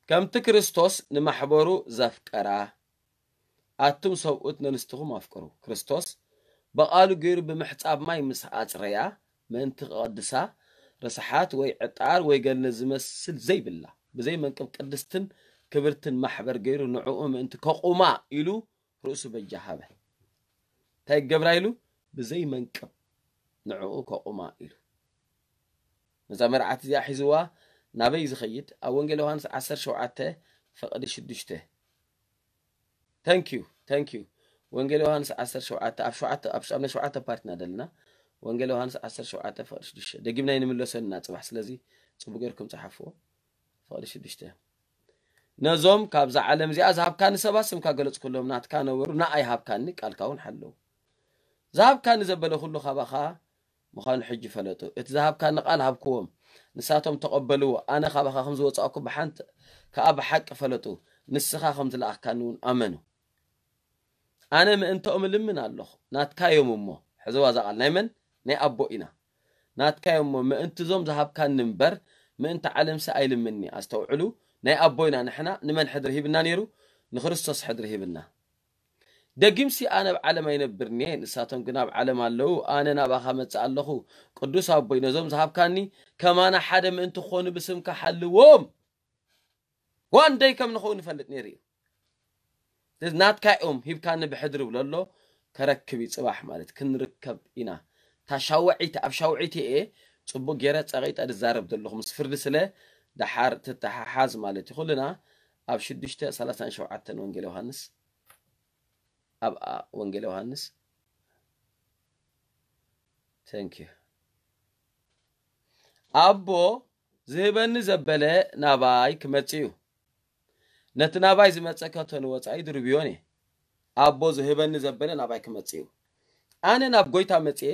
ከምቲ ክርስቶስ ንማሕበሩ ዘፍቀራ ኣቱም ሰብኡት ነንስትኹም ኣፍቅሩ። ክርስቶስ ብቓሉ ገይሩ ብምሕጻብ ማይ ምስ ኣጽረያ ምእንቲ ክቐድሳ ርስሓት ወይ ዕጣር ወይ ገለ ዝመስል ዘይብላ ብዘይ መንቅብ ቅድስትን ክብርትን ማሕበር ገይሩ ንዕኡ ምእንቲ ከቑማ ኢሉ ርእሱ በጃ ሃበ። እንታይ ገብራ ኢሉ? ብዘይ መንቅብ ንዕኡ ከቑማ ኢሉ። ነዛ መርዓት እዚኣ ሒዝዋ ናበይ ዝኸይድ? ኣብ ወንጌል ዮሃንስ ዓሰርተ ሸውዓተ ፍቕዲ ሽዱሽተ። Thank you, thank you። ወንጌል ዮሃንስ ዓሰርተ ሸውዓተ ኣብ ሸውዓተ ኣብ ሸውዓተ ፓርትና ደልና። ወንጌል ዮሃንስ ዓሰርተ ሸውዓተ ፍቕዲ ሽዱሽተ። ደጊምና ይንምለሰና ጽባሕ። ስለዚ ጽቡቅ ጌርኩም ጸሓፍዎ። ፍቕዲ ሽዱሽተ። ነዞም ካብዛ ዓለም እዚኣ ዝሃብካኒ ሰባት ስምካ ገለጽኩሎም፣ ናትካ ነበሩ፣ ንኣይ ሃብካኒ፣ ቃልካ እውን ሓለዉ። ዝሃብካኒ ዘበለ ኩሉ ካባኻ ምዃኑ ሕጂ ፈለጡ። እቲ ዝሃብካኒ ቃል ሃብክዎም፣ ንሳቶም ተቐበልዎ። ኣነ ካባኻ ከም ዝወጻእኩ ብሓንቲ ከኣ ብሓቂ ፈለጡ። ንስኻ ከም ዝለኣኽካኒ እውን ኣመኑ። ኣነ ምእንተኦም እልምን ኣለኹ። ናትካ እዮም እሞ፣ ሕዝዋ እዛ ቃል ናይ መን? ናይ ኣቦ ኢና። ናትካ እዮም እሞ፣ ምእንቲ እዞም ዝሃብካኒ እምበር፣ ምእንቲ ዓለምሲ ኣይልምንኒ። ኣስተውዕሉ፣ ናይ ኣቦ ኢና ንሕና። ንመን ሕድሪ ሂብና ነይሩ? ንክርስቶስ ሕድሪ ሂብና። ደጊምሲ ኣነ ኣብ ዓለም ኣይነብርን እየ፣ ንሳቶም ግን ኣብ ዓለም ኣለዉ፣ ኣነ ናባኻ መጽእ ኣለኹ። ቅዱስ ኣቦይ፣ ነዞም ዝሃብካኒ ከማና ሓደ ምእንቲ ክኾኑ ብስምካ ሓልዎም። ዋንደይ ከም ንኸውን ይፈልጥ ነይሩ እዩ። ስለዚ ናትካ እዮም ሂብካኒ ብሕድሪ ብሎ ኣሎ። ከረክብ እዩ ጽባሕ ማለት ክንርከብ ኢና። እታ ሻውዒት፣ ኣብ ሻውዒት እየ ጽቡቕ ገይረ ጸቒጠ ዝዛረብ ዘለኹ፣ ምስ ፍርዲ ስለ ደሓር ትተሓሓዝ ማለት እዩ። ኩልና ኣብ ሽዱሽተ ሰላሳን ሸውዓተን ወንጌል ዮሃንስ፣ ኣብ ኣ-፣ ወንጌል ዮሃንስ። Thank you። ኣቦ ዝህበኒ ዘበለ ናባይ ክመጽእ እዩ። ነቲ ናባይ ዝመጸ ከቶ ንወጻኢ ድርብዮን እየ። ኣቦ ዝህበኒ ዘበለ ናባይ ክመጽእ እዩ። ኣነ ናብ ጎይታ መጽየ፣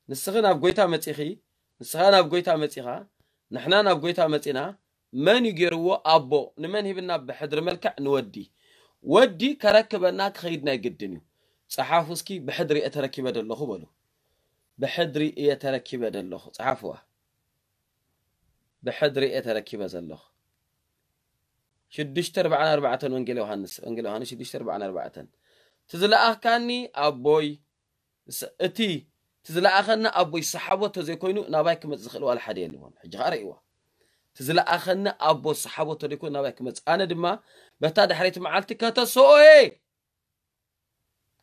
ንስኺ ናብ ጎይታ መጺኺ፣ ንስኻ ናብ ጎይታ መጺኻ፣ ንሕና ናብ ጎይታ መጺና። መን እዩ ገይርዎ? ኣቦ። ንመን ሂብና? ብሕድሪ መልክዕ ንወዲ። ወዲ ከረክበና ክኸይድ ናይ ግድን እዩ። ጸሓፉ እስኪ፣ ብሕድሪ እየ ተረኪበ ዘለኹ በሉ። ብሕድሪ እየ ተረኪበ ዘለኹ። ጸሓፍዋ። ብሕድሪ እየ ተረኪበ ዘለኹ። ሽዱሽተ ኣርባዓን ኣርባዕተን ወንጌል ዮሃንስ፣ ወንጌል ዮሃንስ ሽዱሽተ ኣርባዓን ኣርባዕተን። እቲ ዝለኣኽካኒ ኣቦይ፣ ስ-፣ እቲ፣ እቲ ዝለኣኸኒ ኣቦይ ዝሰሓቦ ተዘይኮይኑ ናባይ ክመጽእ ዝኽእል ዋላ ሓደ የልዎን። ሕጂ ኸኣ ርእይዋ። እቲ ዝለኣኸኒ ኣቦ ዝሰሓቦ ተዘይኮይኑ ናባይ ክመጽእ፣ ኣነ ድማ በታ ድሕረይቲ መዓልቲ ከተሰኦ እየ።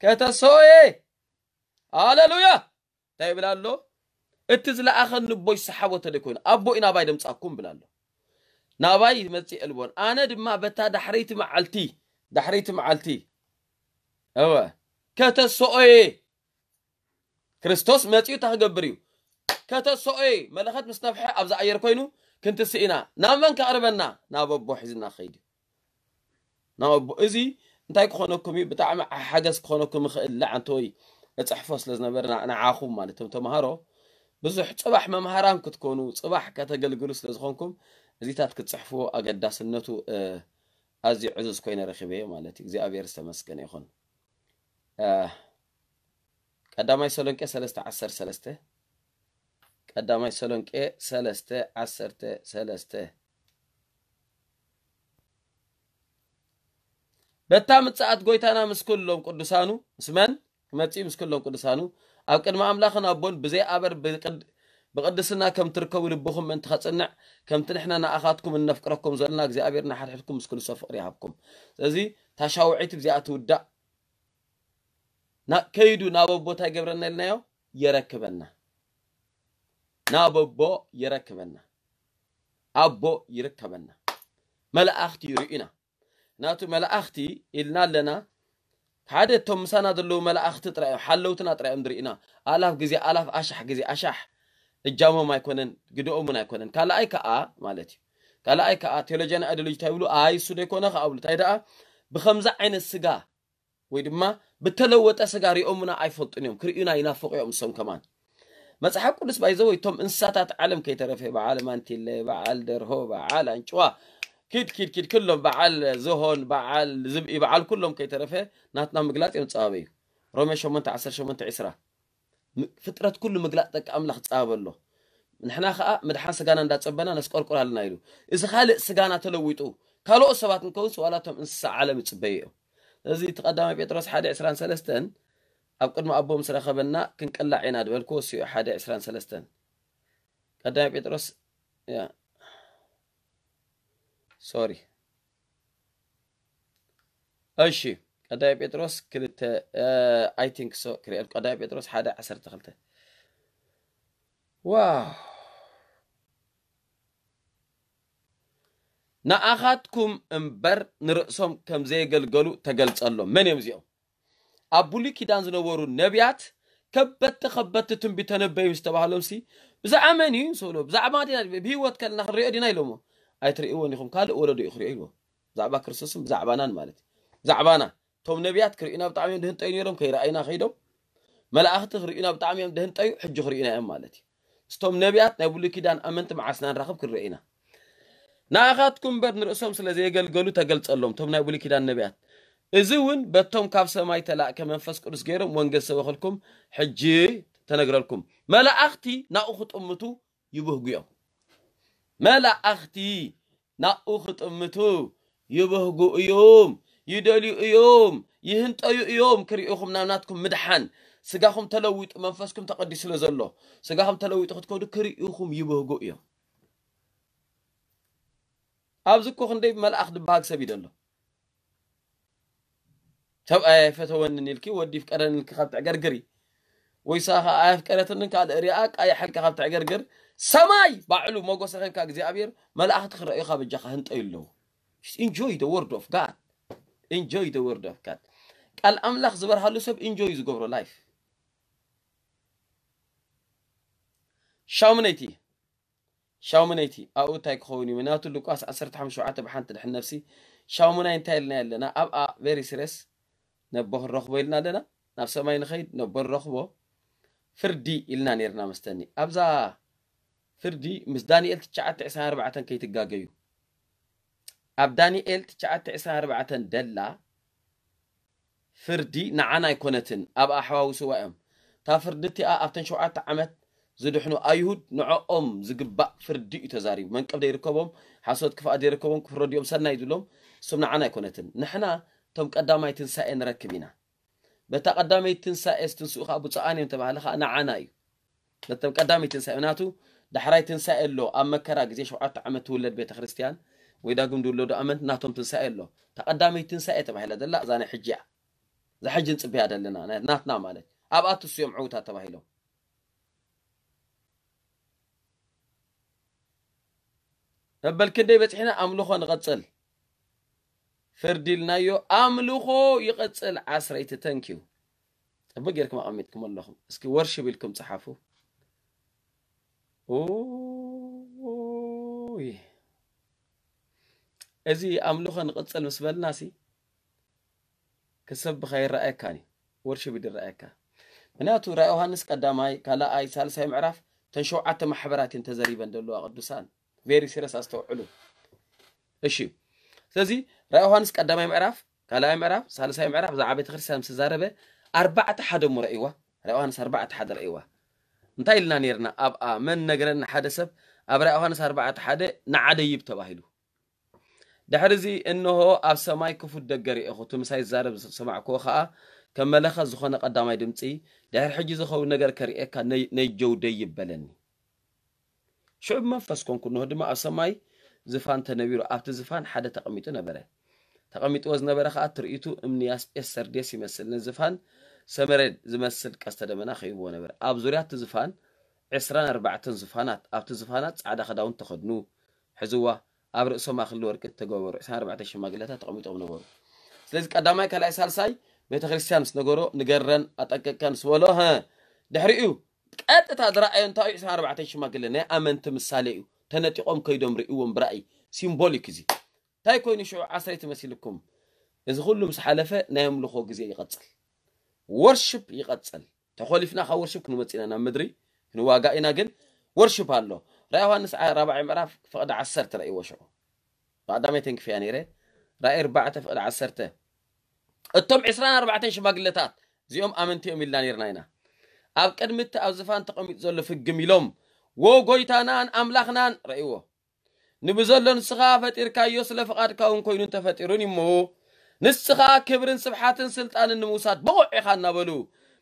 ከተሰኦ እየ። ሃሌሉያ! እንታይ ይብል ኣሎ? እቲ ዝለኣኸኒ ኣቦይ ዝሰሓቦ ተዘይኮይኑ፣ ኣቦይ ናባይ ደምጻኩም ይብል ኣሎ። ናባይ ይመጽእ የልቦን። ኣነ ድማ በታ ዳሕረይቲ መዓልቲ፣ ዳሕረይቲ መዓልቲ፣ እወ፣ ከተሰኦ እየ። ክርስቶስ መጺኡ እንታይ ክገብር እዩ? ከተሰኦ እየ። መለኸት ምስ ነፍሐ ኣብዚ ኣየር ኮይኑ ክንትስእ ኢና። ናብ መን ከቕርበና? ናብ ኣቦ ሒዝና ክኸይድ እዩ። ናብ ኣቦ። እዚ እንታይ ክኾነኩም እዩ? ብጣዕሚ ሓገዝ ክኾነኩም ይኽእል። ለዓንተ ወይ እጽሕፎ ስለ ዝነበረ ና-፣ ንዓኹም ማለት እቶም ተምሃሮ ብዙሕ ጽባሕ መምሃራን ክትኮኑ፣ ጽባሕ ከተገልግሉ ስለ ዝኾንኩም እዚታት ክትጽሕፍዎ ኣገዳስነቱ፣ እ፣ ኣዝዩ ዕዙዝ ኮይነ ረኺበዮ ማለት እዩ። እግዚኣብሔር ዝተመስገነ ይኹን። እ፣ ቀዳማይ ተሰሎንቄ ሰለስተ ዓሰርተ ሰለስተ፣ ቀዳማይ ተሰሎንቄ ሰለስተ ዓሰርተ ሰለስተ። በታ ምጽኣት ጎይታና ምስ ኩሎም ቅዱሳኑ፣ ምስ መን ክመጽእ? ምስ ኩሎም ቅዱሳኑ፣ ኣብ ቅድሚ ኣምላኽን ኣቦን ብዘይ ኣበር ብቅድ-፣ ብቅድስና ከም ትርከቡ ልብኹም ምእንቲ ኸጽንዕ፣ ከምቲ ንሕና ንኣኻትኩም እነፍቅረኩም ዘለና፣ እግዚኣብሔር ንሓድሕድኩም ምስ ኩሉ ሰብ ፍቕሪ ይሃብኩም። ስለዚ፣ እታ ሻውዒት ብዚኣ ትውዳእ። ና-፣ ከይዱ ናብ ኣቦ እንታይ ይገብረና ኢልናዮ? የረክበና። ናብ ኣቦ የረክበና። ኣቦ ይርከበና። መላእኽቲ ይርእዩና። ናቱ መላእኽቲ ኢልና ኣለና። ሓደ እቶም ምሳና ዘለዉ መላእኽቲ ጥራይ እዮም፣ ሓለውትና ጥራይ እዮም ዝርእዩና። ኣላፍ ግዜ ኣላፍ፣ ኣሻሕ ግዜ ኣሻሕ እጃሞም ኣይኮነን፣ ግደኦም እውን ኣይኮነን። ካልኣይ ከኣ ማለት እዩ። ካልኣይ ከኣ ቴዎሎጂያን ኣይዲዮሎጂ እንታይ ይብሉ? ኣይ እሱ ዶ ይኮነ ከኣ ብሉ። እንታይ ደኣ ብኸምዚ ዓይነት ስጋ ወይ ድማ ብተለወጠ ስጋ ሪኦምና ኣይፈልጡን እዮም። ክርእዩና ይናፍቑ እዮም እሶም ከማን። መጽሓፍ ቅዱስ ባይዘወይ እቶም እንስሳታት ዓለም ከይተረፈ በዓል ማንቲለ፣ በዓል ደርሆ፣ በዓል ኣንጭዋ፣ ኪድ ኪድ ኪድ ኩሎም በዓል ዝሆን፣ በዓል ዝብኢ፣ በዓል ኩሎም ከይተረፈ ናትና ምግላጽ እዮም ዝጸባበ እዩ። ሮሜ ሸሞንተ ዓሰርተ ሸሞንተ ዕስራ። ም-፣ ፍጥረት ኩሉ ምግላጽ ደቂ ኣምላኽ ዝጸባበ ኣሎ። ንሕና ኸኣ ምድሓን ስጋና እንዳጸበና ነስቆርቁር ኣለና ኢሉ። እዚ ካልእ ስጋና ተለዊጡ ካልኦት ሰባት እንከውንስ ዋላ እቶም እንስሳ ዓለም ይጽበዩ እዮም። ስለዚ እቲ ቀዳማይ ጴጥሮስ ሓደ ዕስራን ሰለስተን ኣብ ቅድሚ ኣቦ ምስ ረኸበና ክንቅላዕ ኢና ዝበልክዎ እሱ እዩ። ሓደ ዕስራን ሰለስተን ቀዳማይ ጴጥሮስ፣ ያ፣ ሶሪ። እሺ፣ ቀዳማይ ጴጥሮስ ክልተ፣ I think so፣ ክሪኦ። ቀዳማይ ጴጥሮስ ሓደ ዓሰርተ ክልተ። ዋው። ንኣኻትኩም እምበር ንርእሶም ከም ዘየገልገሉ ተገልጸሎም። መን እዮም እዚኦም? ኣብ ብሉይ ኪዳን ዝነበሩ ነቢያት ከበድቲ ከበድቲ ትንቢት ተነበዩ ዝተባህሎም ሲ ብዛዕባ መን እዩ ንሰብሎ? ብዛዕባ ዲና ብህይወት ከለና ክንሪኦ ዲና ኢሎሞ? ኣይትርእይዎን ኢኹም፣ ካልእ ወለዶ እዩ ክሪኦ ኢልዎ። ብዛዕባ ክርስቶስን ብዛዕባናን ማለት እዩ። ብዛዕባና እቶም ነቢያት ክርእዩና ብጣዕሚ እዮም ድህንጠዩ ነይሮም፣ ከይረኣዩና ከይዶም። መላእኽቲ ክርእዩና ብጣዕሚ እዮም ድህንጠዩ፣ ሕጂ ክርእዩና እዮም ማለት እዩ። እስቶም ነቢያት ናይ ብሉይ ኪዳን ኣመንቲ መዓስ ኢና ንራኸብ ክንርኢ ኢና። ንኣኻትኩም እምበር ንርእሶም ስለ ዘየገልገሉ ተገልጸሎም፣ እቶም ናይ ብሉይ ኪዳን ነቢያት። እዚ እውን በቶም ካብ ሰማይ ተላእከ መንፈስ ቅዱስ ገይሮም ወንጌል ሰበኸልኩም፣ ሕጂ ተነግረልኩም። መላእኽቲ ናብኡ ክጥምቱ ይብህጉ እዮም። መላእኽቲ ናብኡ ክጥምቱ ይብህጉ እዮም፣ ይደልዩ እዮም፣ ይህንጠዩ እዮም። ክርእዩኹም ናብ ናትኩም ምድሓን፣ ስጋኹም ተለዊጡ መንፈስኩም ተቐዲሱ ስለ ዘሎ፣ ስጋኹም ተለዊጡ ክትከዱ ክርእዩኹም ይብህጉ እዮም። ኣብዚ እኮ ክንደይ መልኣኽ ዝበሃል ሰብ እዩ ዘሎ። ሰብኣይ ኣይፈተወንን ኢልኪ፣ ወዲ ይፍቀረን ኢልኪ ካብ ትዕገርግሪ፣ ወይ ንሳ ኸኣ ኣየፍቀረትንን ካልእ ሪኣ ቃ ይሓልካ ካብ ትዕገርግር፣ ሰማይ ባዕሉ ሞገስ ረኺብካ እግዚኣብሔር፣ መላእኽቲ ክረእዩኻ በጃኻ ህንጠዩ ኣለዉ። Enjoy the word of God. Enjoy the word of God. ቃል ኣምላኽ ዝበርሃሉ ሰብ ኢንጆይ ዝገብሮ ላይፍ። ሻሙነይቲ ሻሙነይቲ ኣብኡ እንታይ ክኸውን እዩ? ምክንያቱ ሉቃስ ዓሰርተ ሓሙሽተ ሸውዓተ ብሓንቲ ድሕን ነፍሲ። ሻሙናይ እንታይ ኢልና ኣለና? ኣብኣ ቬሪ ሲሪየስ ነቦ ክንረኽቦ ኢልና ኣለና። ናብ ሰማይ ንኸይድ ነቦ ንረኽቦ። ፍርዲ ኢልና ነርና መስተኒ። ኣብዛ ፍርዲ ምስ ዳንኤል ትሽዓተ ዕስራን ኣርባዕተን ከይትጋገዩ። ኣብ ዳንኤል ትሽዓተ ዕስራን ኣርባዕተን ደላ ፍርዲ ንዓና ኣይኮነትን፣ ኣብኣ ኣሕዋውስዋ እዮም። እታ ፍርዲ እቲኣ ኣብተን ሸውዓተ ዓመት ዝድሕኑ ኣይሁድ ንዕኦም ዝግባእ ፍርዲ እዩ ተዛሪቡ። መንቀፍ ዘይርከቦም፣ ሓሶት ክፍኣት ዘይርከቦም፣ ክፍረዱ እዮም ሰናይ ዝብሎም፣ እሶም ንዓና ኣይኮነትን። ንሕና እቶም ቀዳማይ ትንሳኤ ንረክብ ኢና። በታ ቀዳመይቲ ትንሳኤ ዝትንስኡ ኸዓ ብፁዓን እዮም ተባህለ ኸዓ ንዓና እዩ። ነቶም ቀዳመይቲ ትንሳኤ፣ ምክንያቱ ዳሕራይ ትንሳኤ ኣሎ። ኣብ መከራ ግዜ ሸውዓተ ዓመት ትውለድ ቤተ ክርስቲያን ወይ ዳግም ዝውለዱ ኣመንቲ ናቶም ትንሳኤ ኣሎ። እታ ቀዳመይቲ ትንሳኤ ተባሂላ ዘላ እዛ ናይ ሕጂ እያ። እዛ ሕጂ ንጽበያ ዘለና፣ ናይ ናትና ማለት። ኣብኣ ትስዮም ዕውታት ተባሂሎም። መበል ክንደይ በጺሕና? ኣምልኾ ንቐጽል። ፍርዲ ኢልናዮ፣ ኣምልኾ ይቐጽል። ዓስረይቲ፣ ተንኪዩ። ጽቡቅ ጌርኩም ኣቐሚጥኩም ኣለኹም። እስኪ ወርሺፕ ኢልኩም ጸሓፉ። ኡይ። እዚ ኣምልኾ ንቐጽል ምስ በልናሲ፣ ክሰብኻ ይረኣየካን እዩ። ወርሺፕ ይረኣየካ። ምክንያቱ ራእይ ዮሃንስ ቀዳማይ፣ ካልኣይ፣ ሳልሳይ ምዕራፍ፣ እተን ሸውዓተ ማሕበራት እየን ተዘሪበን ዘለዋ ቅዱሳን። ቬሪ ሲሪየስ ኣስተውዕሉ። እሺ። ስለዚ ራእይ ዮሃንስ ቀዳማይ ምዕራፍ፣ ካልኣይ ምዕራፍ፣ ሳልሳይ ምዕራፍ፣ ብዛዕባ ቤተ ክርስቲያን ምስ ተዛረበ፣ ኣርባዕተ ሓደ እሞ ረእይዋ። ራእይ ዮሃንስ ኣርባዕተ ሓደ ረእይዋ። እንታይ ኢልና ነርና? ኣብኣ መን ነገረና? ሓደ ሰብ ኣብ ራእይ ዮሃንስ ኣርባዕተ ሓደ ንዓ ደይብ ተባሂሉ። ድሕሪ እዚ እንሆ ኣብ ሰማይ ክፉት ደገ ርኤኹ፣ እቲ ምሳይ ዝዛረብ ዝሰማዕክዎ ኸኣ ከም መለኸት ዝኾነ ቀዳማይ ድምጺ፣ ድሕሪ ሕጂ ዝኸውን ነገር ከርእየካ ነይ-፣ ነጀው ደይብ በለኒ። ሽዑ ብመንፈስ ኮንኩ፣ እንሆ ድማ ኣብ ሰማይ ዝፋን ተነቢሩ፣ ኣብቲ ዝፋን ሓደ ተቐሚጡ ነበረ። ተቐሚጥዎ ዝነበረ ኸኣ ትርኢቱ እምኒ ያስጴስ ሰርዴስ ይመስል፣ ነዚ ዝፋን ሰመሬድ ዝመስል ቀስተ ደመና ከቢብዎ ነበረ። ኣብ ዙርያ እቲ ዝፋን ዕስራን ኣርባዕተን ዝፋናት፣ ኣብቲ ዝፋናት ጻዕዳ ክዳውንቲ ተኸድኑ፣ ሕዝዋ ኣብ ርእሶም ኣኽሊል ወርቂ እተገበሩ ዕስራን ኣርባዕተን ሽማግለታት ተቐሚጦም ነበሩ። ስለዚ ቀዳማይ፣ ካልኣይ፣ ሳልሳይ ቤተ ክርስቲያን ምስ ነገሮ፣ ንገረን ኣጠንቀቀን ምስ በሎ፣ ሀ፣ ድሕሪኡ ቀጥታ ዝረኣዮ እንታይ እዩ? ዕስራን ኣርባዕተን ሽማግለ ናይ ኣመንቲ ምሳሌ እዩ። ተነጢቖም ከይዶም ርእይዎም ብራእይ። ሲምቦሊክ እዚ። እንታይ ኮይኑ ሽዑ ዓስረይቲ መሲልኩም? እዚ ኩሉ ምስ ሓለፈ ናይ ኣምልኾ ግዜ ይቐጽል። ወርሽፕ ይቐጽል። ተኾሊፍና ካብ ወርሽፕ ክንወጽእ ኢና፣ ናብ ምድሪ ክንዋጋእ ኢና፣ ግን ወርሽፕ ኣሎ። ራእይ ዮሃንስ ዓ-፣ ራብዓይ ምዕራፍ ፍቕዲ ዓሰርተ ረእይዎ ሽዑ። ብቐዳመይ ተንክፈያ ነይረ። ራእይ ኣርባዕተ ፍቕዲ ዓሰርተ። እቶም ዕስራን ኣርባዕተን ሽማግለታት፣ እዚኦም ኣመንቲ እዮም ኢልና ነይርና ኢና። ኣብ ቅድሚ እቲ ኣብ ዝፋን ተቐሚጡ ዘሎ ፍግም ኢሎም፣ "ዎ ጎይታናን ኣምላኽናን" ረእይዎ። ንብዘሎ ንስኻ ፈጢርካዮ፣ ስለ ፍቓድካ እውን ኮይኑ እንተፈጢሩን እሞ፣ ንስኻ ክብርን ስብሓትን ስልጣንን ንምውሳድ ብቑዕ ኢኻ እናበሉ፣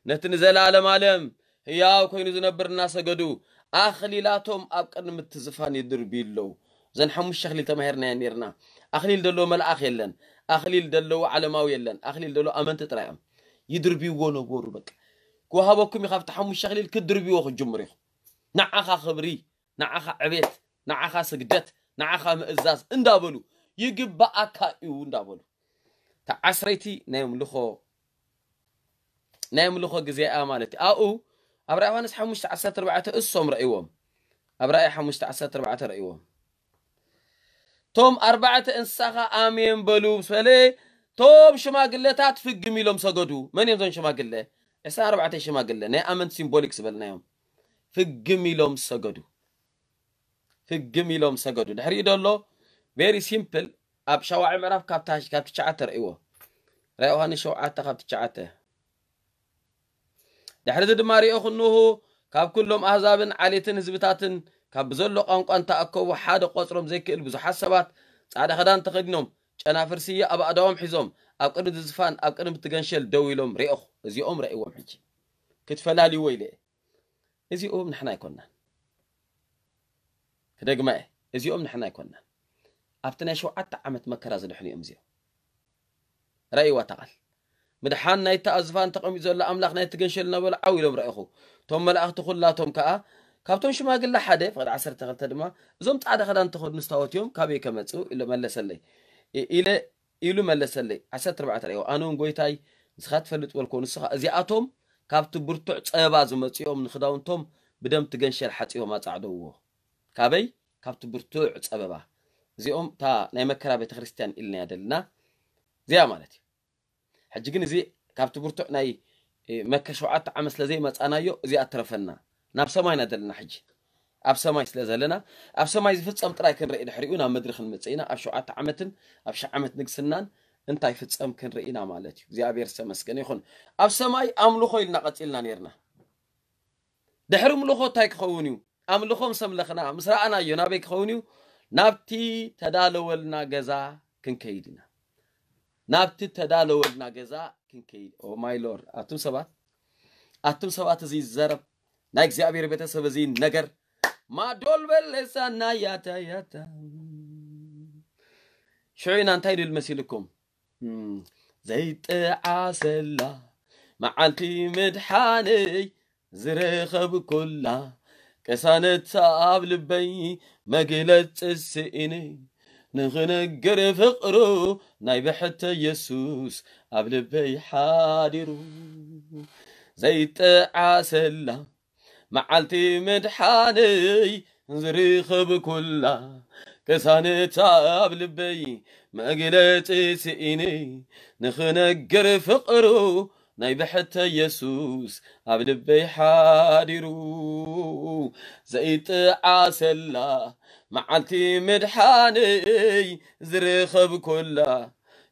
ነቲ ንዘለኣለም ኣለም ህያው ኮይኑ ዝነብር እናሰገዱ፣ ኣኽሊላቶም ኣብ ቅድሚ እቲ ዝፋን ይድርብዩ ኣለዉ። እዘን ሓሙሽተ ኣኽሊል ተማሂርናየን ነይርና። ኣኽሊል ዘለዎ መልኣኽ የለን፣ ኣኽሊል ዘለዎ ዓለማዊ የለን፣ ኣኽሊል ዘለዎ ኣመንቲ ጥራይ እዮም። ይድርብይዎ ነበሩ። በቃ ክወሃበኩም እዩ፣ ካብቲ ሓሙሽተ ኣኽሊል ክትድርብይዎ ክትጅምሩ ኢኹም። ንዓኻ ክብሪ፣ ንዓኻ ዕቤት፣ ንዓኻ ስግደት፣ ንዓኻ ምእዛዝ እንዳበሉ፣ ይግባኣካ እዩ እንዳበሉ፣ ተዓስረይቲ ናይ ኣምልኾ ናይ ኣምልኾ ግዜ እያ ማለት እዩ። ኣብኡ ኣብ ራእይ ዮሃንስ ሓሙሽተ ዓሰርተ ኣርባዕተ እሶም ረእይዎም። ኣብ ራእይ ሓሙሽተ ዓሰርተ ኣርባዕተ ረእይዎም። ቶም ኣርባዕተ እንስሳ ኸኣ ኣሜን በሉ ምስ በለ፣ ቶም ሽማግለታት ፍግም ኢሎም ሰገዱ። መን እዮም እዞም ሽማግለ? ዕስራን ኣርባዕተ ሽማግለ፣ ናይ ኣመንቲ ሲምቦሊክ ዝበልናዮም። ፍግም ኢሎም ሰገዱ። ፍግም ኢሎም ሰገዱ። ድሕሪኡ ደሎ ቨሪ ሲምፕል፣ ኣብ ሻውዓይ ምዕራፍ ካብ ታች፣ ካብ ትሽዓተ ርእይዎ። ራእይ ዮሃንስ ሸውዓተ ካብ ትሽዓተ። ድሕሪ እዚ ድማ ርኤኹ፣ እንሆ፣ ካብ ኩሎም ኣህዛብን ዓሌትን ህዝብታትን፣ ካብ ብዘሎ ቋንቋ እንተኣከቡ ሓደ ቆጽሮም ዘይክእል ብዙሓት ሰባት፣ ጻዕዳ ክዳን ተኸዲኖም፣ ጨናፍር ስየ ኣብ ኣእዳዎም ሒዞም፣ ኣብ ቅድሚ ዝፋን፣ ኣብ ቅድሚ እቲ ገንሸል ደው ኢሎም ርኤኹ። እዚኦም ርኤዎም ሕጂ። ክትፈላልይዎ ኢለ እየ። እዚኦም ንሕና ኣይኮናን። ክደግማ እየ። እዚኦም ንሕና ኣይኮናን። ኣብቲ ናይ ሸውዓተ ዓመት መከራ ዝድሕኑ እዮም እዚኦም። ራእይዋ እታ ቃል። ምድሓን ናይቲ ኣብ ዝፋን ተቐሚጡ ዘሎ ኣምላኽ ናይቲ ገንሸል እናበሉ ዓው ኢሎም ረኣኹ። እቶም መላእኽቲ ኩላቶም ከኣ፣ ካብቶም ሽማግለ ሓደ፣ ፍቕዲ ዓሰርተ ክልተ ድማ፣ እዞም ጻዕዳ ክዳን ተኸድኑ ስታወት እዮም፣ ካበይ ከመጽኡ? ኢሉ መለሰለይ። ኢ-፣ ኢለ፣ ኢሉ መለሰለይ። ዓሰርተ ኣርባዕተ ራእይዋ። ኣነ እውን ጎይታይ፣ ንስኻ ትፈልጥ በልኮ፣ ንሱ ኸኣ፣ እዚኣቶም ካብቲ ብርቱዕ ጸበባ ዝመጽኡ እዮም፣ ንኽዳውንቶም ብደም እቲ ገንሸል ሓጺቦም ኣጻዕደውዎ። ካበይ? ካብቲ ብርቱዕ ጸበባ። እዚኦም እታ ናይ መከራ ቤተ ክርስቲያን ኢልናያ ደልና እዚኣ ማለት እዩ። ሕጂ ግን እዚ ካብቲ ብርቱዕ ናይ፣ እ፣ መከ ሸውዓተ ዓመት ስለ ዘይመጻናዮ እዚኣ ትረፈና። ናብ ሰማይ ኢና ዘለና ሕጂ። ኣብ ሰማይ ስለ ዘለና፣ ኣብ ሰማይ ዝፍጸም ጥራይ ክንርኢ ድሕሪኡ ናብ ምድሪ ክንመጽእ ኢና። ኣብ ሸውዓተ ዓመትን ኣብ ሽሕ ዓመት ንግስናን እንታይ ፍጸም ክንርኢ ኢና ማለት እዩ። እግዚኣብሔር ዝተመስገነ ይኹን። ኣብ ሰማይ ኣምልኾ ኢልና ቀጺልና ነይርና። ድሕሪ ምልኾ እንታይ ክኸውን እዩ? ኣምልኾ ምስ ኣምለኽና፣ ምስ ረኣናዮ ናበይ ክኸውን እዩ? ናብቲ ተዳለወልና ገዛ ክንከይድ ኢና። ናብቲ ተዳለወልና ገዛ ክንከይድ። ኦ ማይ ሎርድ፣ ኣቱም ሰባት፣ ኣቱም ሰባት፣ እዚ ይዘረብ፣ ናይ እግዚኣብሔር ቤተሰብ፣ እዚ ነገር ማዶል በለሳና ያታ ያታ። ሽዑ ኢና እንታይ ድብል መሲልኩም? እም፣ ዘይጠዓሰላ መዓልቲ ምድሓነይ ዝረኸብኩላ፣ ቅሳነት ኣብ ልበይ መግለጺ ስኢነ፣ ንኽነግር ፍቕሩ ናይ ብሕተ የሱስ ኣብ ልበይ ሓዲሩ። ዘይጠዓሰላ መዓልቲ ምድሓነይ ዝረኸብኩላ፣ ቅሳነት ኣብ ልበይ መግለጺ ስኢነ፣ ንኽነግር ፍቕሩ ናይ ብሕተ የሱስ ኣብ ልበይ ሓዲሩ። ዘይጠዓሰላ መዓልቲ ምድሓነይ ዝረኸብኩላ፣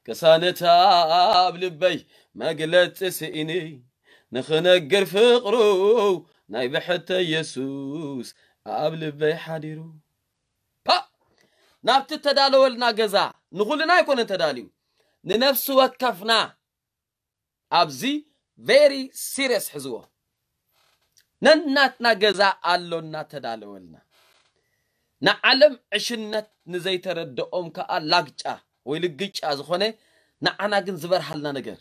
ቅሳነት ኣብ ልበይ መግለጺ ስኢነ፣ ንኽነግር ፍቕሩ ናይ ብሕተ የሱስ ኣብ ልበይ ሓዲሩ። ፓ! ናብቲ ተዳለወልና ገዛ ንኹልና ኣይኮነን ተዳልዩ፣ ንነፍሲ ወከፍና። ኣብዚ ቬሪ ሲሪየስ ሕዝዎ። ነናትና ገዛ ኣሎና ተዳለወልና። ንዓለም ዕሽነት ንዘይተረድኦም ከኣ ላግጫ ወይ ልግጫ ዝኾነ፣ ንዓና ግን ዝበርሃልና ነገር።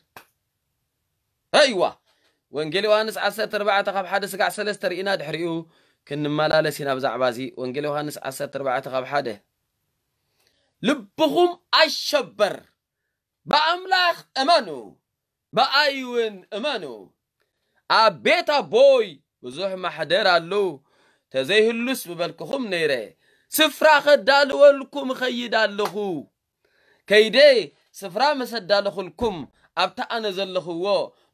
ረእይዋ። ወንጌል ዮሃንስ ዓሰርተ ኣርባዕተ ካብ ሓደ ስጋዕ ሰለስተ ርኢና ድሕሪኡ ክንመላለስ ኢና ብዛዕባ እዚ። ወንጌል ዮሃንስ ዓሰርተ ኣርባዕተ ካብ ሓደ። ልብኹም ኣይሸበር፣ ብኣምላኽ እመኑ፣ ብኣይ እውን እመኑ። ኣብ ቤት ኣቦይ ብዙሕ ማሕደር ኣሎ፣ ተዘይህሉስ ምበልኩኹም ነይረ። ስፍራ ከዳልወልኩም እኸይድ ኣለኹ። ከይደ ስፍራ ምስ ኣዳለኹልኩም፣ ኣብቲ ኣነ ዘለኽዎ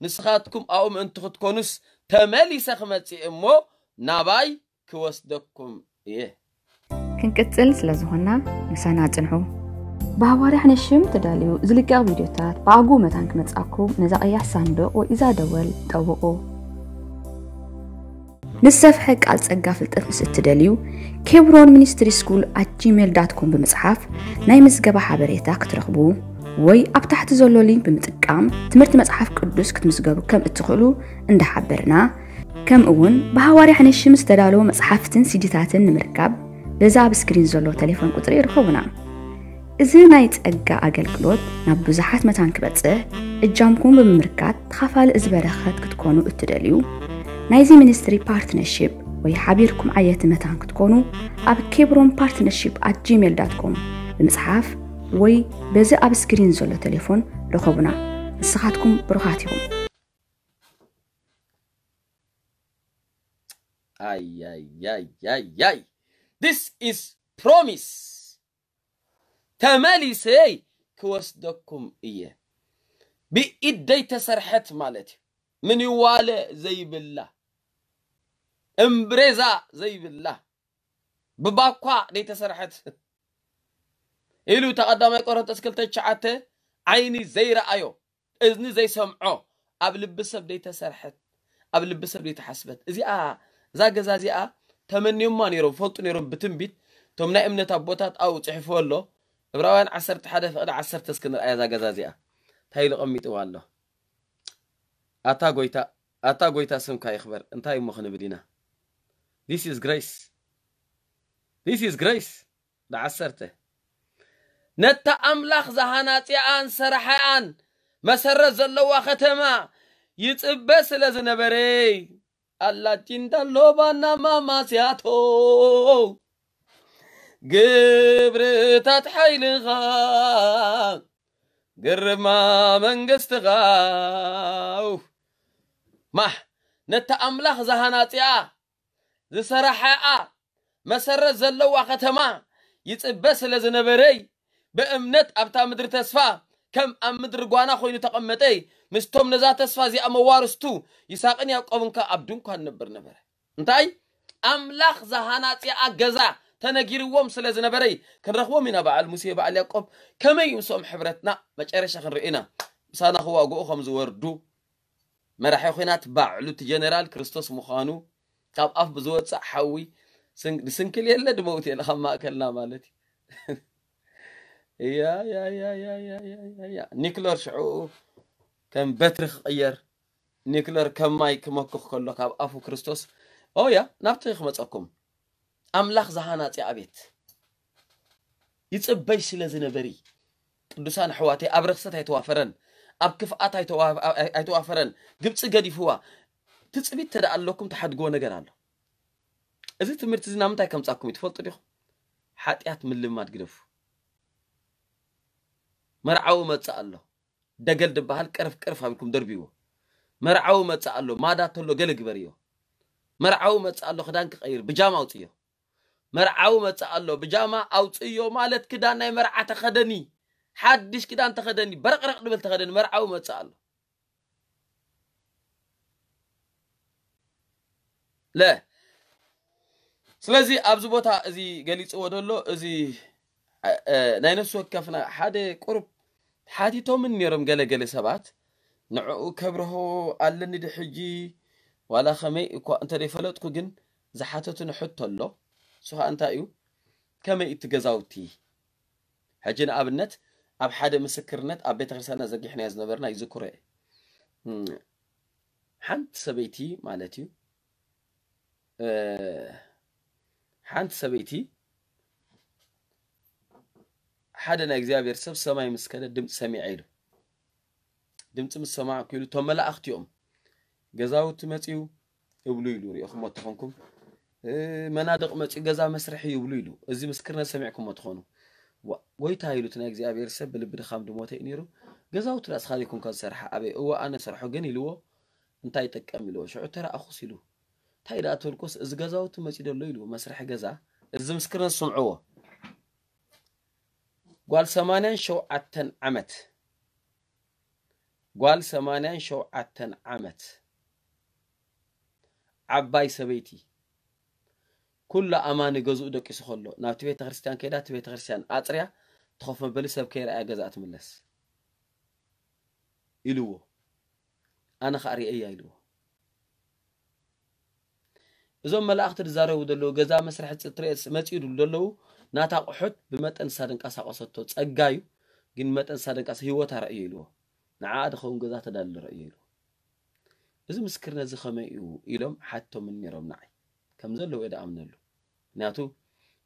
ንስኻትኩም ኣብኡ ምእንቲ ክትኮኑስ፣ ተመሊሰ ክመጽእ እሞ ናባይ ክወስደኩም እየ። ክንቅጽል ስለ ዝኾንና፣ ምሳና ጽንሑ። ብሃዋርያ ሕነ ሽም ተዳልዩ ዝልቀቕ ቪድዮታት ብኣግኡ መታን ክመጽኣኩም ነዛ ቀያሕ ሳንዱቕ ወይ እዛ ደወል ጠውቑ። ንሰፍሐ ቃል ጸጋ ፍልጠት ምስ እትደልዩ፣ ኬብሮን ሚኒስትሪ ስኩል ኣት ጂሜል ዳት ኮም ብምጽሓፍ ናይ ምዝገባ ሓበሬታ ክትረኽቡ፣ ወይ ኣብ ታሕቲ ዘሎ ሊንክ ብምጥቃም ትምህርቲ መጽሓፍ ቅዱስ ክትምዝገቡ ከም እትኽእሉ እንዳሓበርና፣ ከምኡ እውን ብሃዋርያ ሕነሽም ዝተዳለወ መጽሓፍትን ሲዲታትን ንምርካብ በዚ ኣብ ስክሪን ዘሎ ቴሌፎን ቁጽሪ ይርኸቡና። እዚ ናይ ጸጋ ኣገልግሎት ናብ ብዙሓት መታን ክበጽሕ እጃምኩም ብምምርካት ተኻፋሊ እዚ በረኸት ክትኮኑ እትደልዩ፣ ናይዚ ሚኒስትሪ ፓርትነርሺፕ ወይ ሓቢርኩም ዓየቲ መታን ክትኮኑ ኣብ ኬብሮን ፓርትነርሺፕ ኣት ጂሜል ዳት ኮም ብምጽሓፍ ወይ በዚ ኣብ ስክሪን ዘሎ ቴሌፎን ርኸቡና። ንስኻትኩም ብሩኻት ኢኹም። ኣያያያያይ this is promise ተመሊሰይ ክወስደኩም እየ። ብኢደይ ተሰርሐት ማለት እዩ። ምንዋለ ዘይብላ፣ እምብሬዛ ዘይብላ፣ ብባኳ ዘይተሰርሐት ኢሉ ተቐዳማይ ቆሮንቶስ ክልተ ትሽዓተ ዓይኒ ዘይረኣዮ እዝኒ ዘይሰምዖ ኣብ ልቢ ሰብ ዘይተሰርሐት ኣብ ልቢ ሰብ ዘይተሓስበት እዚኣ እዛ ገዛ እዚኣ ተመንዮማ ነይሮም ፈልጡ ነይሮም ብትንቢት እቶም ናይ እምነት ኣቦታት ኣብኡ ፅሒፍዎ ኣሎ። ዕብራውያን ዓሰርተ ሓደ ፍቕዲ ዓሰርተ እስኪ ንርኣያ እዛ ገዛ እዚኣ እንታይ ኢሉ ቀሚጥዋ ኣሎ። ኣታ ጎይታ ኣታ ጎይታ ስምካ ይኽበር እንታይ እሞ ክንብል ኢና። This is grace. This is grace. ዓሰርተ ነታ ኣምላኽ ዝሃናጺኣን ሰራሓኣን መሰረት ዘለዋ ከተማ ይጽበ ስለ ዝነበረ ኣላቲንዳሎባና ማማስያቶ ግብርታት ሓይልኻ ግርማ መንግስትኻ ማህ ነታ ኣምላኽ ዝሃናጺኣ ዝሰራሓኣ መሰረት ዘለዋ ከተማ ይጽበ ስለ ዝነበረይ ብእምነት ኣብታ ምድሪ ተስፋ ከም ኣብ ምድሪ ጓና ኮይኑ ተቐመጠይ ምስቶም ነዛ ተስፋ እዚኣ መዋርስቱ ይስሐቅን ያዕቆብን ከኣ ኣብ ድንኳን ነብር ነበረ። እንታይ ኣምላኽ ዝሃናጺኣ ገዛ ተነጊርዎም ስለ ዝነበረይ ክንረኽቦም ኢና። በዓል ሙሴ በዓል ያዕቆብ ከመይ እዩ ምስኦም ሕብረትና መጨረሻ ክንርኢ ኢና። ምሳና ክዋግኡ ከም ዝወርዱ መራሒ ኹናት ባዕሉ እቲ ጀነራል ክርስቶስ ምዃኑ ካብ ኣፍ ብዝወፅእ ሓዊ ድስንክል የለ ድመውት የለ ካብ ማእከልና ማለት እዩ። ያ ያ ያ ያ ያ ያ ያ ኒክለር ሽዑ ከም በትሪ ክቕየር ኒክለር ከም ማይ ክመክኽ ከሎ ካብ ኣፉ ክርስቶስ ኦያ ናብቲ ክመፀኩም ኣምላኽ ዝሃናፂ ኣቤት ይፅበይ ስለ ዝነበሪ ቅዱሳን ኣሕዋተይ ኣብ ርኽሰት ኣይተዋፈረን ኣብ ክፍኣት ኣይተዋፈረን ግብፂ ገዲፍዋ ትፅቢት ተደኣ ኣለኩም ትሓድግዎ ነገር ኣሎ። እዚ ትምህርቲ እዚ ናብ ምንታይ ከምፃኩም እዩ ትፈልጡ ዲኹም? ሓጢኣት ምልማድ ግደፉ። መርዓዊ መፅእ ኣሎ ደገል ድበሃል ቅርፍ ቅርፍ ኣቢልኩም ደርብይዎ። መርዓዊ መፅእ ኣሎ ማዳ ተሎ ገለ ግበርዮ። መርዓዊ መፅእ ኣሎ ክዳን ክቐይር ብጃማ ኣውፅዮ። መርዓዊ መፅእ ኣሎ ብጃማ ኣውፅዮ ማለት ክዳን ናይ መርዓ ተኸደኒ። ሓድሽ ክዳን ተኸደኒ በረቕረቕ ድብል ተኸደኒ መርዓዊ መፅእ ኣሎ። ለ ስለዚ ኣብዚ ቦታ እዚ ገሊፅዎ ዘሎ እዚ ናይ ነፍሲ ወከፍና ሓደ ቁሩብ ሓቲቶምን ነይሮም ገለገለ ሰባት ንዕኡ ከብርሆ ኣለኒ ድ ሕጂ ዋላ ከመይ እኳ እንተደይፈለጥኩ ግን ዝሓተቱኒ ሕቶ ኣሎ። እሱ ከዓ እንታይ እዩ ከመይ እቲ ገዛውቲ ሕጂ ንኣብነት ኣብ ሓደ ምስክርነት ኣብ ቤተክርስትያንና ዘጊሕናዮ ዝነበርና ይዝክሮ እየ ሓንቲ ሰበይቲ ማለት እዩ ሓንቲ ሰበይቲ ሓደ ናይ እግዚኣብሔር ሰብ ሰማይ ምስ ከደ ድምፂ ሰሚዐ ኢሉ ድምፂ ምስ ሰማዕኩ ኢሉ እቶም መላእኽቲ እዮም ገዛውቲ መፅዩ እብሉ ኢሉ ሪእኹሞ ተኾንኩም መናድቕ መፅዩ ገዛ መስርሒ ይብሉ ኢሉ እዚ ምስክርነት ሰሚዕኩሞ ትኾኑ ጎይታ ኢሉ እቲ ናይ እግዚኣብሔር ሰብ ብልቢ ድኻም ድሞተ እዩ ነይሩ ገዛውቲ ዳኣ ስኻ ዘይኮንካ ዝሰርሓ ኣበይ እወ ኣነ ሰርሖ ግን ኢልዎ እንታይ ይጠቀም ኢልዎ ሽዑ ተረኣኹስ ኢሉ እንታይ ደኣ ትብልኮስ እዚ ገዛውቲ መፂ ደሎ ኢሉ መስርሒ ገዛ እዚ ምስክርነት ስምዕዎ ጓል ሰማንያን ሸውዓተን ዓመት ጓል ሰማንያን ሸውዓተን ዓመት ዓባይ ሰበይቲ ኩሉ ኣማኒ ገዝኡ ደቂሱ ከሎ ናብቲ ቤተ ክርስቲያን ከይዳ እቲ ቤተ ክርስቲያን ኣፅርያ ትኸፍ መበሊ ሰብ ከይረኣያ ገዛኣ ትምለስ ኢልዎ ኣነ ከዓ ርእየያ ኢልዎ እዞም መላእኽቲ ዝዛረቡ ዘለዉ፣ ገዛ መስርሒ ትርኤስ መጺኡ ድሉ ዘለዉ፣ ናታ ኣቑሑት ብመጠን ንሳ ድንቀሳቐሰቶ ጸጋ እዩ፣ ግን መጠን ንሳ ድንቀሳ ህይወታ ረእዮ ኢልዎ። ንዓኣ ድኸውን ገዛ ተዳልለ ረእዮ ኢልዎ። እዚ ምስክርነት እዚ ከመይ እዩ ኢሎም ሓቶምን ነይሮም ንዓይ። ከም ዘለዎ እየ ድኣምነሉ። ምክንያቱ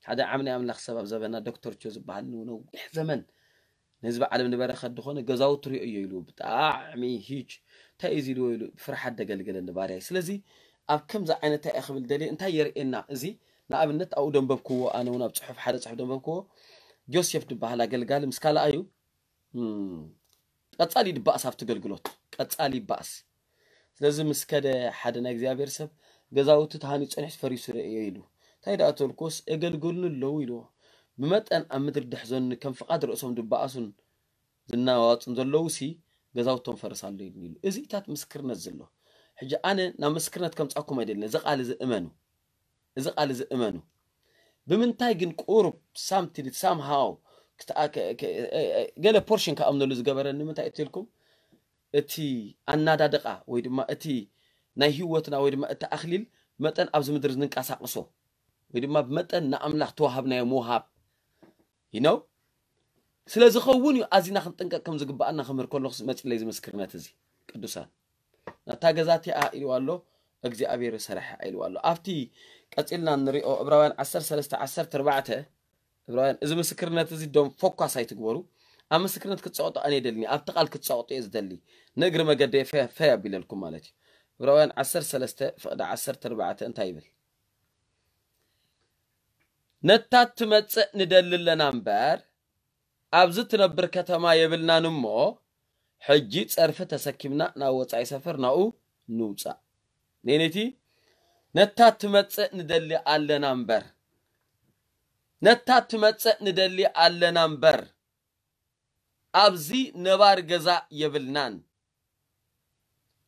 ሓደ ዓምኒ ኣምላኽ ሰብ ኣብ ዘበና ዶክተር ቾ ዝበሃል ንነዊሕ ዘመን ንህዝቢ ዓለም ንበረኸት ዝኾነ ገዛውቲ ሪኦ እዮ ኢሉ ብጣዕሚ ሂጅ እንታይ እዩ ኢልዎ ኢሉ ብፍርሓት ደገልገለኒ ባርያይ። ስለዚ ኣብ ከምዚ ዓይነት እንታይ እየ ክብል ደልየ እንታይ የርእየና እዚ ንኣብነት ኣብኡ ደንበብክዎ ኣነ እውን ኣብ ፅሑፍ ሓደ ፅሑፍ ደንበብክዎ ጆሴፍ ዝበሃል ኣገልጋሊ ምስ ካልኣዩ ቀጻሊ ድባእስ ኣብቲ ገልግሎት ቀጻሊ ይባእስ። ስለዚ ምስ ከደ ሓደ ናይ እግዚኣብሔር ሰብ ገዛውቲ ተሃኒጹ ጸኒሑ ፈሪሱ ርእዮ ኢሉ እንታይ ደኣ ተልኮስ እገልግሉኒ ኣለዉ ኢልዎ። ብመጠን ኣብ ምድሪ ድሕዘኑኒ ከም ፍቓድ ርእሶም ድባኣሱን ዝናዋወጹን ዘለዉ ሲ ገዛውቶም ፈርስ ኣሎ ኢሉኒ ኢሉ። እዚታት ምስክርነት ዘሎ ሕጂ ኣነ ናብ ምስክርነት ከምጻኩም ኣይደልን እዚ ቃል እዚ እመኑ። እዚ ቃል እዚ እመኑ። ብምንታይ ግን ቁሩብ ሳምቲድ ሳምሃው ገለ ፖርሽን ክኣምነሉ ዝገበረኒ ንምንታይ እትልኩም እቲ ኣናዳድቃ ወይ ድማ እቲ ናይ ህይወትና ወይ ድማ እቲ ኣክሊል መጠን ኣብዚ ምድሪ ዝንቀሳቅሶ ወይ ድማ ብመጠን ንኣምላኽ ተዋሃብናዮ ምውሃብ ይነው ስለ ዝኸውን እዩ ኣዚና ክንጥንቀቅ ከም ዝግባኣና ክምህር ከለኹ መፅለይ ዝምስክርነት እዚ ቅዱሳን ናታ ገዛ እቲኣ ኢልዋ ኣሎ እግዚኣብሔር ሰረሐ ኢልዋ ኣሎ ኣብቲ ቀፂልና ንሪኦ ዕብራውያን ዓሰርተ ሰለስተ ዓሰርተ ኣርባዕተ ዕብራውያን እዚ ምስክርነት እዚ ዶም ፎኳስ ኣይትግበሩ ኣብ ምስክርነት ክትፀቅጡ ኣነ የደልኒ ኣብቲ ቃል ክትፀቅጡ እየ ዝደሊ ንእግሪ መገደ ፈ ኣቢለልኩም ማለት እዩ ዕብራውያን ዓሰርተ ሰለስተ ፍቅዲ ዓሰርተ ኣርባዕተ እንታይ ይብል ነታ ትመፅእ ንደሊ ኣለና እምበር ኣብዚ ትነብር ከተማ የብልናን እሞ ሕጂ ጸርፊ ተሰኪምና ናብ ወጻኢ ሰፈር ናኡ ንውጻእ። ኔኔቲ ነታ ትመጽእ ንደሊ ኣለና እምበር ነታ ትመጽእ ንደሊ ኣለና እምበር ኣብዚ ነባር ገዛ የብልናን።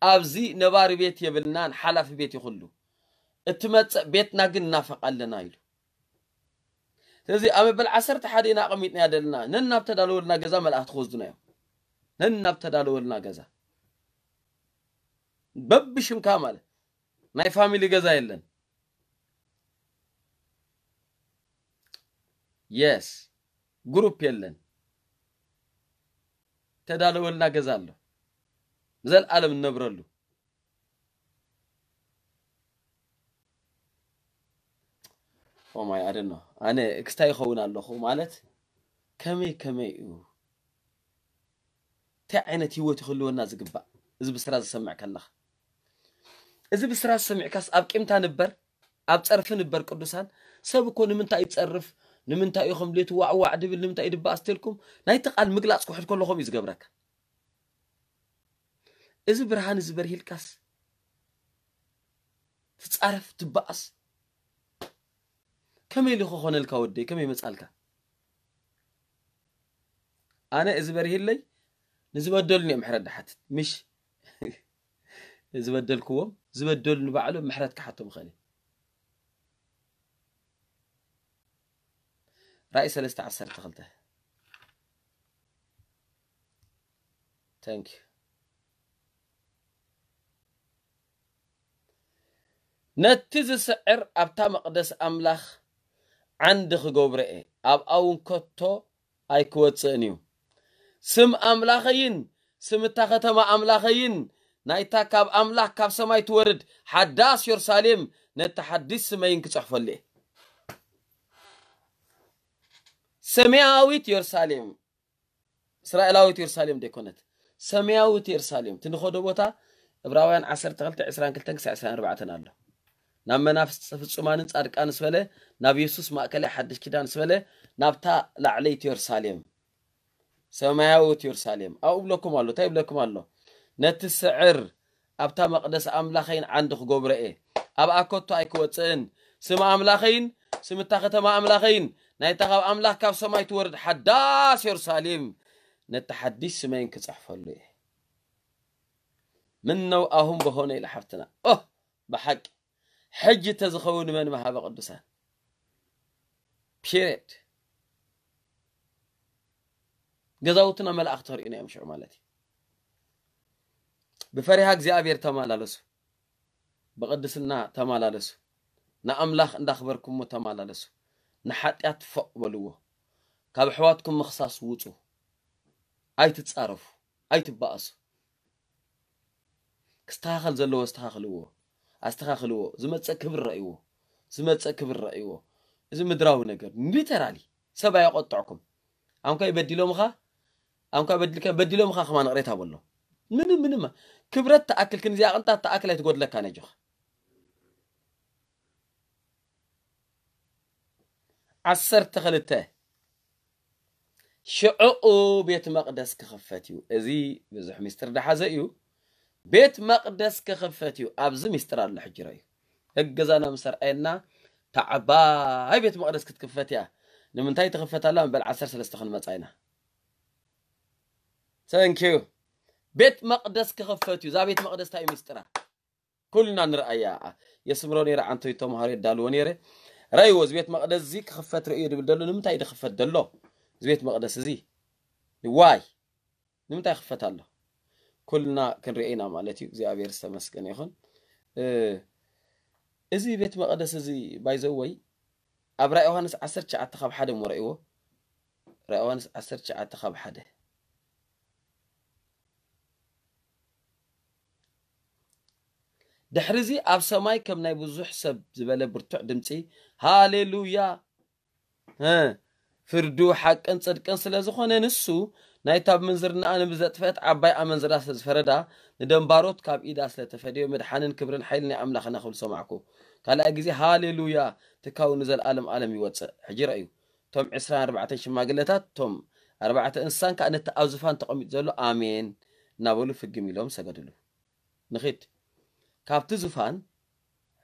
ኣብዚ ነባሪ ቤት የብልናን ሓላፊ ቤት ይኹሉ እትመጽእ ቤትና ግን እናፈቕ ኣለና ኢሉ ስለዚ ኣብ መበል ዓሰርተ ሓደ ኢና ኣቐሚጥና ዘለና ነን ናብ ተዳለወልና ገዛ መላእኽቲ ክወስዱና እዮም ነን ናብ ተዳለወልና ገዛ በብሽምካ ማለት ናይ ፋሚሊ ገዛ የለን የስ ግሩፕ የለን ተዳለወልና ገዛ ኣሎ ንዘለኣለም እንነብረሉ ኦማይ ኣደኖ ኣነ ክስታይ ይኸውን ኣለኹ ማለት ከመይ ከመይ እዩ እንታይ ዓይነት ህይወት ይክልወና ዝግባእ እዚ ብስራ ዝሰምዕ ከለኻ እዚ ብስራ ዝሰሚዕካስ ኣብ ቂምታ ንበር ኣብ ጸርፊ ንበር ቅዱሳን ሰብ እኮ ንምንታይ ይጸርፍ ንምንታይ እዩ ከም ድሌቱ ዋዕዋዕ ድብል ንምንታይ ይድባእ ስትልኩም ናይቲ ቃል ምግላጽ ክውሕድ ከለኹም እዩ ዝገብረካ እዚ ብርሃን እዚ በርሂልካስ ትጻረፍ ትባኣስ ከመይ ኢሉ ክኾነልካ ወደይ ከመይ መጻልካ ኣነ እዚ በርሂለይ ንዝበደሉኒ እዮም ምሕረት ድሓትት ምሽ ዝበደልክዎም ዝበደሉ ንባዕሎም ምሕረት ክሓቶም ይኽእል ራእይ ሰለስተ ዓሰርተ ክልተ Thank you. ነቲ ዝስዕር ኣብታ መቕደስ ኣምላኽ ዓንዲ ክገብሮ እየ፣ ኣብኣ እውን ከቶ ኣይክወጽእን እዩ። ስም ኣምላኸይን ስም እታ ከተማ ኣምላኸይን ናይታ ካብ ኣምላኽ ካብ ሰማይ ትወርድ ሓዳስ የሩሳሌም ነቲ ሓድሽ ስመይን ክጽሕፈሉ እየ። ሰማያዊት የሩሳሌም እስራኤላዊት የሩሳሌም ደይኮነት ሰማያዊት የሩሳሌም ትንኸዶ ቦታ ዕብራውያን ዓሰርተ ክልተ ዕስራን ክልተን ክሳዕ ዕስራን ኣርባዕተን ኣሎ ናብ መናፍስቲ ፍጹማንን ጻድቃን ስበለ ናብ የሱስ ማእከላይ ሓድሽ ኪዳን ስበለ ናብታ ላዕለይቲ የሩሳሌም ሰማያዊት የሩሳሌም ኣብኡ ብለኩም ኣሎ እንታይ ይብለኩም ኣሎ ነቲ ስዕር ኣብታ መቕደስ ኣምላኸይን ዓንዲ ክገብሮ እየ ኣብኣ ከቶ ኣይክወፅእን ስም ኣምላኸይን ስም እታ ከተማ ኣምላኸይን ናይታ ካብ ኣምላኽ ካብ ሰማይ ትወርድ ሓዳስ የሩሳሌም ነቲ ሓድሽ ስመይን ክፅሕፈሉ እየ ምን ነው ኣሁን በሆነ ኢለ ሓፍትና ኦ ብሓቂ ሕጂ ተዝኸውን መን መሃበ ቅዱሳን ፒሪድ ገዛውትና መላእኽቲ ክርእዩና እዮም ሽዑ ማለት እዩ ብፈሪሃ እግዚኣብሔር ተመላለሱ ብቅድስና ተመላለሱ ንኣምላኽ እንዳኽበርኩሞ ተመላለሱ። ንሓጢኣት ፎቕ በልዎ። ካብ ኣሕዋትኩም ምኽሳስ ውጹ። ኣይትጻረፉ፣ ኣይትበኣሱ። ክስተኻኸል ዘለዎ ኣስተኻኽልዎ፣ ኣስተኻኽልዎ። ዝመጽእ ክብሪ ረእይዎ፣ ዝመጽእ ክብሪ ረእይዎ። እዚ ምድራዊ ነገር ሊተራሊ ሰብ ኣየቆጥዕኩም። ኣንኳይ በዲሎምኻ፣ ኣንኳይ በዲልካ በዲሎምኻ ከማን ቅሬታ በሎ። ምንም ምንም ክብረት ተኣክል ክንዚኣ ቅንጣት ተኣክል ኣይትጎድለካ ነጆኻ። ዓሰርተ ክልተ ሽዕኡ ቤት መቕደስ ክኽፈት እዩ። እዚ ብዙሕ ሚስጥር ደሓዘ እዩ። ቤት መቕደስ ክኽፈት እዩ። ኣብዚ ሚስጥር ኣሎ። ሕጂ ረእዩ ህገዛና ምስ ኣርኣየና፣ ታዕባይ ቤት መቕደስ ክትክፈት እያ። ንምንታይ ትኽፈት ኣላ? መበል ዓሰርተ ሰለስተ ክንመጻ ኢና። ተንኪዩ። ቤት መቕደስ ክኽፈት እዩ። እዛ ቤት መቕደስ እንታይ እዩ ሚስጥራ? ኩልና ንርኣያ። የስምሮ ነይረ፣ ዓንቶይ ተምሃሮ የዳልዎ ነይረ። ረእይዎ፣ እዚ ቤት መቕደስ እዚ ክኽፈት ርእዮ ድብል ደሎ። ንምንታይ ድኽፈት ደሎ? እዚ ቤት መቕደስ እዚ ዋይ ንምንታይ ክፈት ኣሎ? ኩልና ክንሪኦ ኢና ማለት እዩ። እግዚኣብሔር ዝተመስገነ ይኹን። እ፣ እዚ ቤት መቕደስ እዚ ባይዘወይ ኣብ ራእይ ዮሃንስ ዓሰርተ ትሽዓተ ካብ ሓደ እሞ ረእይዎ። ራእይ ዮሃንስ ዓሰርተ ትሽዓተ ካብ ሓደ። ድሕሪ እዚ ኣብ ሰማይ ከም ናይ ብዙሕ ሰብ ዝበለ ብርቱዕ ድምፂ፣ ሃሌሉያ! እ፣ ፍርዱ ሓቅን ጽድቅን ስለ ዝኾነ፣ ንሱ ናይታ ብምንዝርናኣ ንብዘጥፈት ዓባይ ኣመንዝራ ስለ ዝፈረዳ፣ ንደንባሮት ካብ ኢዳ ስለ ተፈደዮ፣ ምድሓንን ክብርን ሓይልን ናይ ኣምላኽና ክብል ሰማዕኩ። ካልኣይ ግዜ፣ ሃሌሉያ! ትካዊ ንዘለኣለም ኣለም ይወጽእ። ሕጂ ረእዩ፣ እቶም ዕስራን ኣርባዕተን ሽማግለታት፣ እቶም ኣርባዕተ እንስሳን ከኣ ነቲ ኣብ ዝፋን ተቐሚጡ ዘሎ ኣሜን እናበሉ ፍግም ኢሎም ሰገድሉ። ንኺድ። ካብቲ ዝፋን፣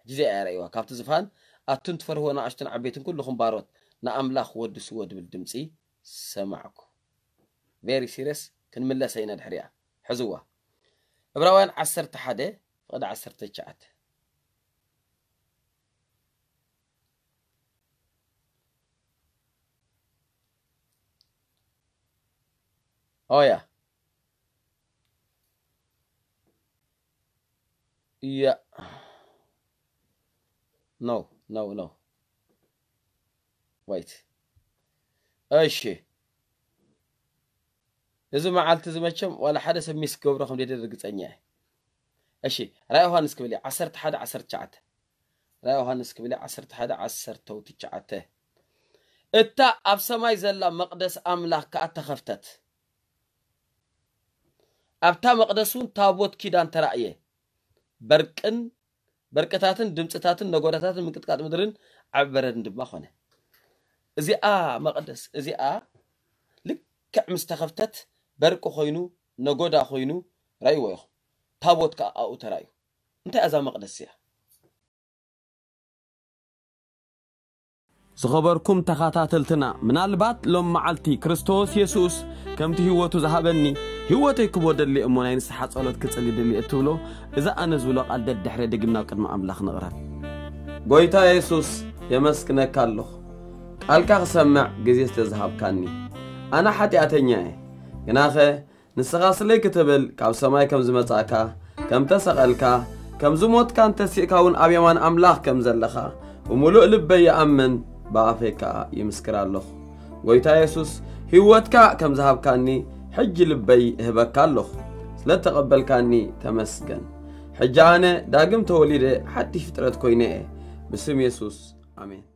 ሕጂ እዚኣ እያ ረእይዋ፣ ካብቲ ዝፋን፣ ኣቱም ትፈርህዎ ንኣሽቱን ዓበይትን ኩልኹም ባሮት፣ ንኣምላኽ ወድስዎ ድብል ድምጺ ሰማዕኩ። ቬሪ ሲሪየስ፣ ክንምለሰ ኢና ድሕሪኣ። ሕዝዋ። ዕብራውያን ዓሰርተ ሓደ ፍቕዲ ዓሰርተ ትሽዓተ። ኦያ። ያ። ኖ፣ ኖ፣ ኖ። ዋይት። እሺ። እዚ መዓልቲ እዚ መቸም ዋላ ሓደ ሰብ ሚስ ክገብሮ ከም ደይደሊ ርግጸኛ እየ። እሺ፣ ራእይ ዮሃንስ ክብል እየ፣ ዓሰርተ ሓደ ዓሰርተ ትሽዓተ። ራእይ ዮሃንስ ክብል እየ፣ ዓሰርተ ሓደ ዓሰርተ ትሽዓተ። እታ ኣብ ሰማይ ዘላ መቕደስ ኣምላኽ ከኣ ተኸፍተት። ኣብታ መቕደስ እውን ታቦት ኪዳን ተራእየ። በርቅን፣ በርቅታትን ድምፅታትን ነጎዳታትን ምንቅጥቃጥ ምድርን ዓቢ በረድን ድማ ኾነ። እዚኣ መቕደስ እዚኣ ልክዕ ምስ ተኸፍተት በርቂ ኮይኑ፣ ነጎዳ ኮይኑ ረእይዎ ኢኹም። ታቦት ከኣ ኣብኡ ተራእዩ። እንታይ እያ እዛ መቕደስ እዚኣ? ዝኸበርኩም ተኸታተልትና፣ ምናልባት ሎም መዓልቲ ክርስቶስ የሱስ ከምቲ ህይወቱ ዝሃበኒ፣ ህይወተይ ክቦ ደሊ እሞ ናይ ንስሓ ጸሎት ክጽሊ ደሊ እትብሎ፣ እዚ ኣነ ዝብሎ ቃል ደድሕረ ድግም ናብ ቅድሚ ኣምላኽ ንቕረብ። ጎይታ የሱስ፣ የመስግነካ ኣለኹ። ቃልካ ክሰምዕ ግዜ ስለ ዝሃብካኒ። ኣነ ሓጢኣተኛ እየ። ግናኸ ንስኻ ስለይ ክትብል ካብ ሰማይ ከም ዝመጻእካ፣ ከም ተሰቐልካ፣ ከም ዝሞትካን ተሲእካ እውን ኣብ የማን ኣምላኽ ከም ዘለኻ ብምሉእ ልበይ ይኣምን፣ ብኣፈይ ከኣ ይምስክር ኣለኹ። ጎይታ የሱስ፣ ህይወትካ ከም ዝሃብካኒ ሕጂ ልበይ እህበካ ኣለኹ። ስለ እተቐበልካኒ ተመስገን። ሕጂ ኣነ ዳግም ተወሊደ ሓድሽ ፍጥረት ኮይነ እየ። ብስም የሱስ፣ ኣሜን።